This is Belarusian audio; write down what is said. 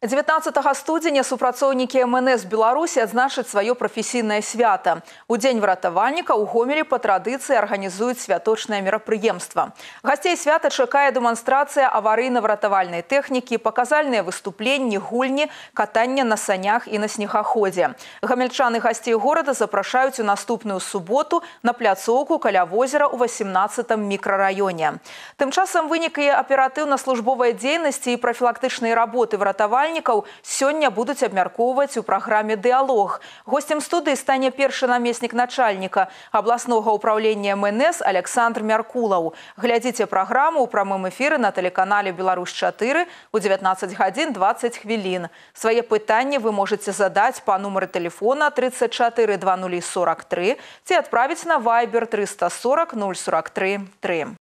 19 студзеня супрацоўнікі МНС Беларусі адзначаць сваё прафесійнае свята. У дзень выратавальніка ў Гомелі па традыцыі арганізуюць святочнае мерапрыемства. Гасцей свята чакае дэманстрацыя аварыйна-выратавальнай тэхнікі, паказальныя выступленні, гульні, катанне на санях і на снегаходзе. Гамельчаны гасцей горада запрашаюць у наступную суботу на пляцоўку каля возера ў 18-м мікрараёне. Тым часам вынікі аператыўна-службовай дзейнасці і прафілактычнай работы выратавальніка сёння будуць абмяркоўваць у праграме «Дыалог». Гостем студыі стане першы намеснік начальніка абласнога ўпраўлення МНС Александр Мяркулаў. Глядзіце праграму ў прамым эфіры на тэлеканале «Беларусь-4» у 19:20. Свае пытанні вы можаце задаць па нумары тэлефона 34 2043 ці адправіць на Viber 340 043 3.